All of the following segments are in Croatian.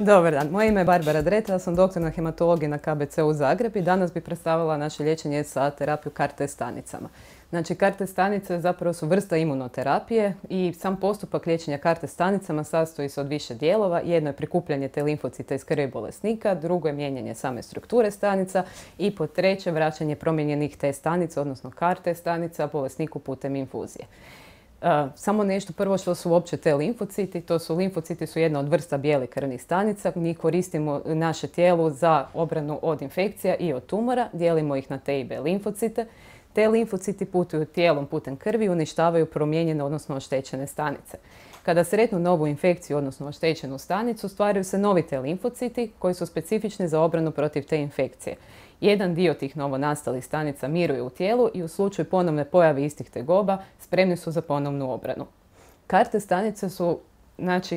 Dobar dan, moje ime je Barbara Dreta, ja sam doktor na hematologiji na KBC-u Zagreb i danas bih predstavila naše liječenje sa terapiju CAR-T stanicama. Znači, CAR-T stanice zapravo su vrsta imunoterapije i sam postupak liječenja CAR-T stanicama sastoji se od više dijelova. Jedno je prikupljanje te limfocita iz krvi bolesnika, drugo je mijenjanje same strukture stanica i po treće vraćanje promijenjenih T stanica, odnosno CAR-T stanica, bolesniku putem infuzije. Samo nešto prvo što su uopće te limfociti. Limfociti su jedna od vrsta bijelih krvnih stanica. Mi koristimo naše tijelo za obranu od infekcija i od tumora. Dijelimo ih na T i B limfocite. Te limfociti putuju tijelom putem krvi i uništavaju promijenjene, odnosno oštećene stanice. Kada sretnu novu infekciju, odnosno oštećenu stanicu, stvaraju se novi T limfociti koji su specifični za obranu protiv te infekcije. Jedan dio tih novonastalih stanica miruje u tijelu i u slučaju ponovne pojave istih tegoba spremni su za ponovnu obranu. CAR-T stanice su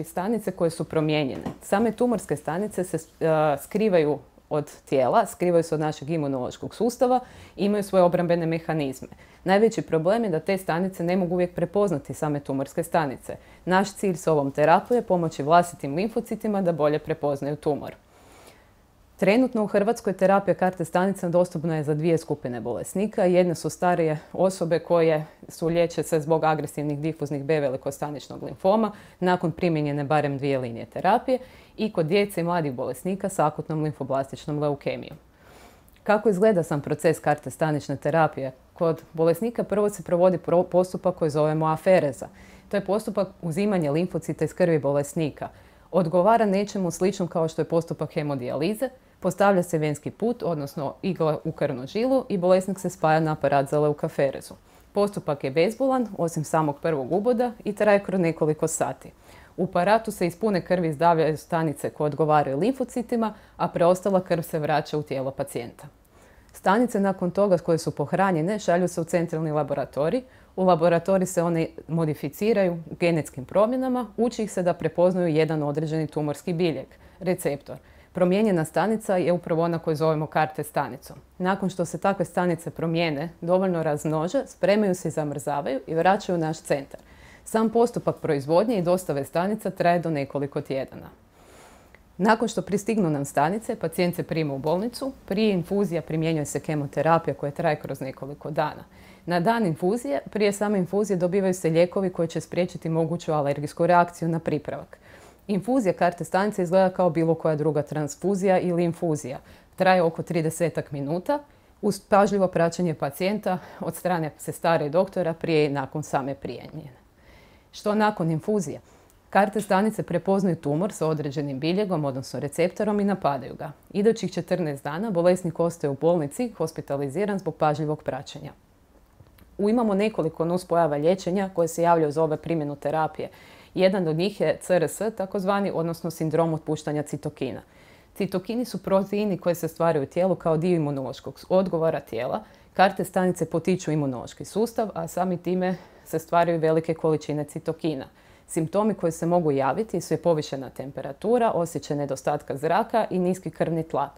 stanice koje su promijenjene. Same tumorske stanice se skrivaju od tijela, skrivaju se od našeg imunološkog sustava i imaju svoje obrambene mehanizme. Najveći problem je da te stanice ne mogu uvijek prepoznati same tumorske stanice. Naš cilj s ovom terapijom je pomoći vlastitim limfocitima da bolje prepoznaju tumor. Trenutno u Hrvatskoj terapija CAR-T stanica dostupna je za dvije skupine bolesnika. Jedne su starije osobe koje liječe se zbog agresivnih difuznih B velikostaničnog limfoma nakon primjenjene barem 2 linije terapije i kod djece i mladih bolesnika s akutnom limfoblastičnom leukemijom. Kako izgleda sam proces CAR-T stanične terapije? Kod bolesnika prvo se provodi postupak koji zovemo afereza. To je postupak uzimanja limfocita iz krvi bolesnika. Odgovara nečemu sličnom kao što je postupak hemodijalize, postavlja se venski put, odnosno igla u krvnu žilu i bolesnik se spaja na aparat za leukaferezu. Postupak je bezbolan, osim samog prvog uboda i traje kroz nekoliko sati. U aparatu se iz pune krvi izdavljaju stanice koje odgovaraju limfocitima, a preostala krv se vraća u tijelo pacijenta. Stanice nakon toga koje su pohranjene šalju se u centralni laboratorij. U laboratoriji se one modificiraju genetskim promjenama, uči ih se da prepoznaju jedan određeni tumorski biljeg, receptor. Promijenjena stanica je upravo ona koju zovemo CAR-T stanicom. Nakon što se takve stanice promijene, dovoljno razmnože, spremaju se i zamrzavaju i vraćaju u naš centar. Sam postupak proizvodnje i dostave stanica traje do nekoliko tjedana. Nakon što pristignu nam stanice, pacijent se prima u bolnicu. Prije infuzija primjenjuje se kemoterapija koja traje kroz nekoliko dana. Na dan infuzije, prije same infuzije dobivaju se lijekovi koji će spriječiti moguću alergijsku reakciju na pripravak. Infuzija CAR-T stanice izgleda kao bilo koja druga transfuzija ili infuzija. Traje oko 30 minuta uz pažljivo praćenje pacijenta od strane sestara i doktora prije i nakon same primjene. Što nakon infuzije? CAR-T stanice prepoznaju tumor sa određenim biljegom, odnosno receptorom i napadaju ga. Idućih 14 dana bolesnik ostaje u bolnici, hospitaliziran zbog pažljivog praćenja. Imamo nekoliko nuspojava liječenja koje se javljaju za ove primjenu terapije. Jedan od njih je CRS, takozvani, odnosno sindrom otpuštanja citokina. Citokini su proteini koji se stvaraju u tijelu kao dio imunološkog odgovora tijela. CAR-T stanice potiču imunološki sustav, a sami time se stvaraju velike količine citokina. Simptomi koji se mogu javiti su povišena temperatura, osjećaj nedostatka zraka i niski krvni tlak.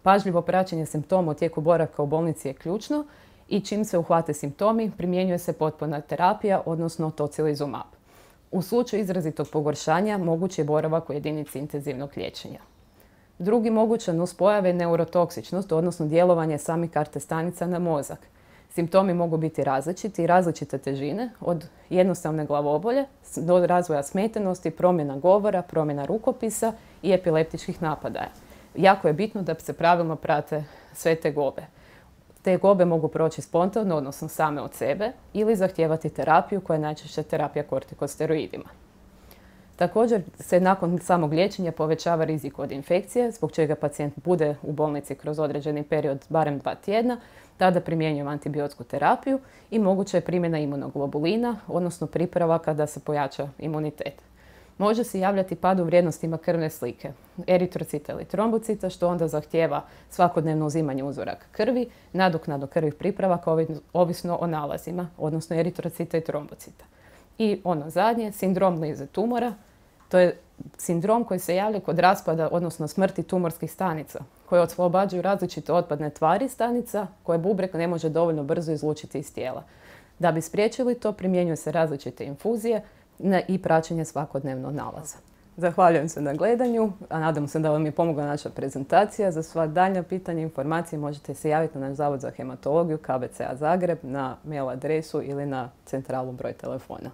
Pažljivo praćenje simptoma u tijeku boravka u bolnici je ključno i čim se uhvate simptomi, primjenjuje se potpuna terapija, odnosno tocilizumab. U slučaju izrazitog pogoršanja moguć je boravak u jedinici intenzivnog liječenja. Drugi moguća nuspojava je neurotoksičnost, odnosno djelovanje samih CAR-T stanica na mozak. Simptomi mogu biti različiti i različite težine, od jednostavne glavobolje do razvoja smetenosti, promjena govora, promjena rukopisa i epileptičkih napadaja. Jako je bitno da se pravilno prate sve tegobe. Tegobe mogu proći spontano, odnosno same od sebe, ili zahtijevati terapiju koja je najčešće terapija kortikosteroidima. Također se nakon samog liječenja povećava rizik od infekcije, zbog čega pacijent bude u bolnici kroz određeni period, barem 2 tjedna, tada primjenjujemo antibiotsku terapiju i moguća je primjena imunoglobulina, odnosno pripravaka da se pojača imunitet. Može se javljati pad u vrijednostima krvne slike, eritrocita ili trombocita, što onda zahtijeva svakodnevno uzimanje uzoraka krvi, nadoknadu krvnih pripravaka ovisno o nalazima, odnosno eritrocita i trombocita. I ono zadnje, sindrom lize tumora, to je sindrom koji se javlja kod raspada, odnosno smrti tumorskih stanica, koje oslobađaju različite otpadne tvari stanica koje bubreg ne može dovoljno brzo izlučiti iz tijela. Da bi spriječili to, primjenjuju se različite infuzije i praćenje svakodnevno nalaza. Zahvaljujem se na gledanju, a nadam se da vam je pomogla naša prezentacija. Za sva daljnja pitanja i informacije možete se javiti na naš Zavod za hematologiju KBC-a Zagreb na mail adresu ili na centralu broj telefona.